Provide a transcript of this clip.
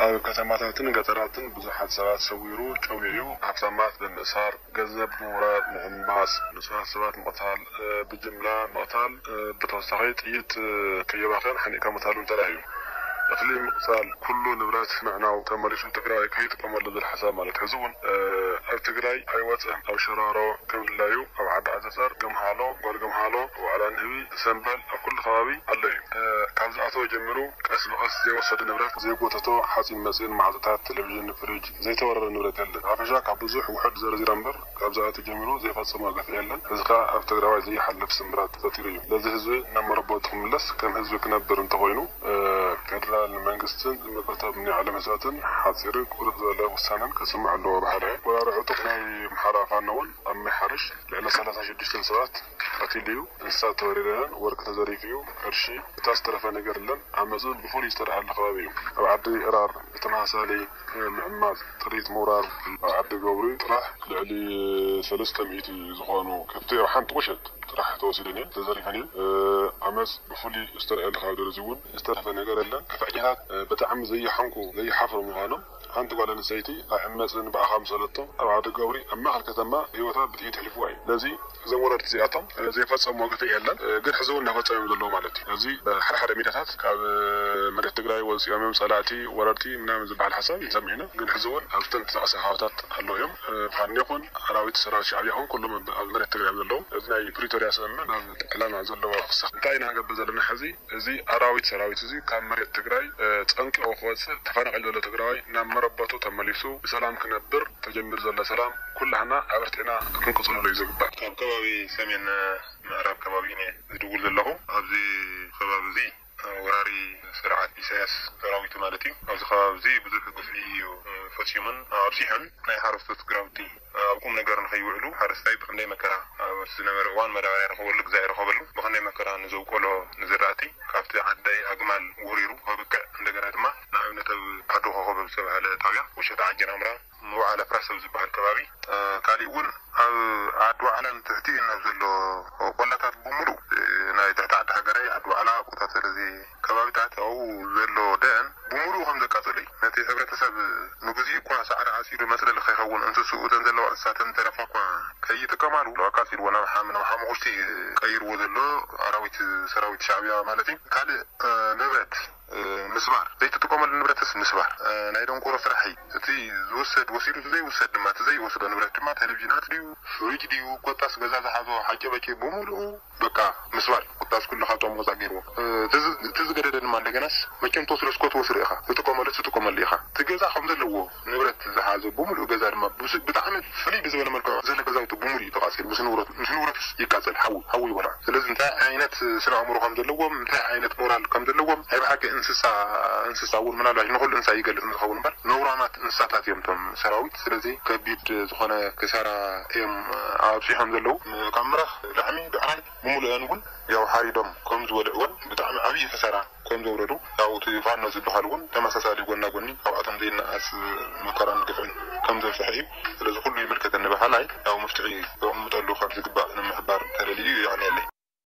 ኣብ ከተማታትን ገጠራትን ብዙሓት ሰባት ሰዊሩ ጨውዩ እዩ። ሃብታማት ብምእሳር፣ ገንዘብ ብምውራር፣ ምሕማስ፣ ንጹሃት ሰባት ምቕታል፣ እ፣ ብጅምላ ምቕታል፣ እ፣ ብተወሳኺ ጥይት፣ እ፣ ከየባኸን ሓኒቕካ ምቕታል እውን ተራእዩ። እኽሊ ምቕጻል፣ ኩሉ ንብረት ምዕናው፣ ተመሊሱ ትግራይ ከይጥቀመሉ ዝብል ሓሳብ ማለት። ሕዚ እውን፣ እ፣ ኣብ ትግራይ ኣይወፅእን። ኣብ ሽራሮ ከም ድላዩ፣ ኣብ ዓዲ ዓዘርዘር፣ ገምሃሎ፣ ጓል ገምሃሎ፣ ኣብ ዋዕላ ንህቢ፣ ሰምበል፣ ኣብ ኩሉ ከባቢ ኣሎ እዩ። እ፣ ካብ ዝኣተወ ጀሚሩ ቀስ ብቐስ ዘይወሰዶ ንብረት፣ ዘይጎተቶ ሓፂን መፂን፣ ማዕፆታት፣ ቴሌቪዥን፣ ፍሪጅ፣ ዘይተወረረ ንብረት የለን። ሓፈሻ ካብ ብዙሕ ውሑድ ዘርዚረ እምበር፣ ካብ ዝኣተወ ጀሚሩ ዘይፈፀሞ ግፍዒ የለን። እዚ ከዓ ኣብ ትግራዋይ ዘይሓልፍ ስምብራት ፈጢሩ እዩ። ነዚ ህዝቢ ናብ መረበቱ ክምለስ፣ ከም ህዝቢ ክነብር እንተኾይኑ፣ እ፣ ፌደራል መንግስትን ዝምልከቶም ናይ ዓለም ህዝባትን ሓፂርን ቁርጥ ዝበለ ውሳነን ከስምዕ ኣለዎ። ብሓደ ወራሪ ዕጡቕ ናይ ኣምሓራ ፋኖ እውን ኣብ ማይ ሓርሽ ልዕሊ ሰላሳ ሽዱሽተ ሰባት ቀቲሉ እዩ። እንስሳት ተወሪረን፣ ወርቂ ተዘሪፉ እዩ። ቅርሺ እታ ዝተረፈ ነገር የለን። ዓመፅ እውን ብፍሉይ ዝተርኣየሉ ከባቢ እዩ። ኣብ ዓዲ ዕራር ብተመሳሳሊ ምዕማፅ፣ ጥሪት ምውራር፣ ኣብ ዓዲ ገብሪ ጥራሕ ልዕሊ ሰለስተ ሚእቲ ዝኾኑ ከብቲ ኣብ ሓንቲ ቁሸት ጥራሕ ተወሲደን እየን፣ ተዘሪፈን እየን። እ፣ ዓመፅ ብፍሉይ ዝተርኣየሉ ከባቢ ደረዚ እውን ዝተረፈ ነገር የለን። ግፍዐኛታት፣ እ፣ ብጣዕሚ ዘይሓንኩ ዘይሓፍሩ ምዃኖም ሓንቲ ጓል ኣንስተይቲ ኣዕመፅን ብኣኻ ምሰለቶም ኣብ ዓዲ ገብሪ ኣብ ማእኸል ከተማ ህይወታ ብጥይት ኣሕሊፍዋ እዩ። ነዚ እዞም ወረርቲ እዚኣቶም፣ እ፣ ዘይፈፀምዎ ግፍዒ የለን፣ እ፣ ግን ሕዚ እውን እናፈፀሙ እዮም ዘለዉ ማለት እዩ። እዚ፣ እ፣ ሓደ ሓደ ሚድያታት ካብ፣ እ፣ መሬት ትግራይ ወፂኦም እዮም ጸላእቲ ወረርቲ ምናምን ዝበሃል ሓሳብ ይንሰምዕ ኢና። ግን ሕዚ እውን ኣብ ዝተንቀሳቐሰ ከባብታት ኣለዉ እዮም። እ፣ ፋኖ ይኹን ኣራዊት ሰራዊት ሻዕብያ ይኹን ኩሎም ኣብ፣ ኣብ መሬት ትግራይ እዮም ዘለዉ። እዚ ናይ ፕሪቶርያ ስምምዕ ናብ ዕላማ ዘለዎ ክሳዕ እንታይ ኢና ክንገብር ዘለና ሕዚ? እዚ ኣራዊት ሰራዊት እዚ ካብ መሬት ትግራይ፣ እ፣ ጸንቂቑ ክወጽእ፣ ተፈናቒሉ ዘሎ ትግራዋይ ናብ መረበቱ ተመሊሱ ብሰላም ክነብር፣ ተጀሚሩ ዘሎ ሰላም ኩላህና ኣበርቲዕና ክንቅጽለሉ እዩ ዝግባእ። ካብ ከባቢ ሰሜን ምዕራብ ከባቢ እየ ዝድውል ዘለኹ። ኣብዚ ከባቢ እዚ ወራሪ ስርዓት ኢሳያስ ሰራዊቱ ማለት እዩ። ኣብዚ ከባቢ እዚ ብዙሕ ግፍዒ እዩ ፈጺሙን ኣብዚሑን። ናይ ሓረስቶት ግራውቲ ኣብ ቁም ነገር ንኸይውዕሉ ሓረስታይ ብኽንደይ መከራ ኣብ ዝነበረ እዋን መዳበርያ ይረኸበሉ፣ ግዛዕ ይረኸበሉ፣ ብኽንደይ መከራ ንዘውቀሎ ንዝራእቲ ካብቲ ዓዳይ ኣግማል ወሪሩ ከብቅዕ፣ እንደገና ድማ ንኣብነት ኣብ ዓዲ ኮኸብ ኣብ ዝተባህለ ጣብያ ወሸጣ ዓጀን ኣምራ መውዓለ ፍራስ ኣብ ዝበሃል ከባቢ፣ እ፣ ካሊእ እውን ኣብ ዓዲ ዋዕላን ትሕቲ ናብ ዘሎ ቆላታት ብምሉእ፣ እ፣ ናይ ትሕቲ ዓዲ ሃገራይ፣ ዓዲ ዋዕላ፣ ቆታተል፣ እዚ ከባቢታት ኣብኡ ዘሎ ደን ብምሉእ ከም ዘቃጸለ እዩ። ነቲ ሕብረተሰብ ንግዚኡ እኳ ሳዕሪ ዓጺዱ መጽለሊ ከይኸውን እንስስኡ እተን ዘለዋ እንስሳተን ተረፋ እኳ ከይጥቀማሉ ኣቃጺልዎ ናብ ሓም-፣ ናብ ሓሙኽሽቲ ቀይርዎ ዘሎ ኣራዊት ሰራዊት ሻዕብያ ማለት እዩ። ካልእ፣ እ፣ ንብረት፣ እ፣ ምስባር፣ ዘይትጥቀመሉ ንብረትስ ምስባር፣ እ፣ ናይ ደንቆሮ ስራሕ እዩ። እቲ ዝውሰድ ወሲዱ፣ እቲ ዘይውሰድ ድማ፣ እቲ ዘይወስዶ ንብረት ድማ ቴሌቪዥናት ድዩ፣ ፍሪጅ ድዩ፣ ኮታስ ገዛ ዝሓዞ ሓጨበጨ ብምሉኡ በቃ ምስባር እዩ። ኮታስ ኩሉ ካብቶም ወፃእ ገይርዎ። እ፣ እቲ ዝ-፣ እቲ ዝገደደ ድማ እንደገናስ መቸም ትወስዶ እስኮ ትወስዶ ኢኻ፣ ትጥቀመሉ ትጥቀመሉ ኢኻ። እቲ ገዛ ከም ዘለዎ ንብረት ዝሓዘ ብምሉእ ገዛ ድማ ብስ-፣ ብጣዕሚ ፍልይ ብዝበለ መልክዑ ዘሎ ገዛውቲ ብምሉእ እዩ ተቃፂሉ። ምስ ንብረቱ፣ ምስ ንብረቱስ ይቃፀል፣ ሓዊ፣ ሓዊ ይበልዖ። ስለዚ እንታይ ዓይነት ስነ ኣእምሮ ከም ዘለዎም፣ እንታይ ዓይነት ሞራል ከም ዘለዎም፣ ናይ ብሓቂ እንስሳ፣ እንስሳ እውን ምናልባት ንኹሉ እንስሳ ይገልፅ ዝኸውን እምበር ነውራማት እንስሳታት እዮም እቶም ሰራዊት። ስለዚ ከቢድ ዝኾነ ክሳራ እዮም ኣብፂሖም ዘለዉ። ካብ ምራኽ፣ ላሕሚ፣ ብዕራይ ብምሉእን እውን ያው ሓሪዶም ከም ዝበልዕዎን ብጣዕሚ ዓብዪ ክሳራ ከም ዘውረዱ፣ ያው እቲ ፋኖ ዝበሃል እውን ተመሳሳሊ ጎና ጎኒ ካብኣቶም ዘይነኣስ መከራን ግፍዕን ከም ዘብፅሐ እዩ። ስለዚ ኩሉ ይምልከተኒ በሃላይ ያው መፍትሒ ዘቕምጠሉ ካብ ዝግባእ ንምሕባር ተደልዩ እዩ። የቐንየለይ።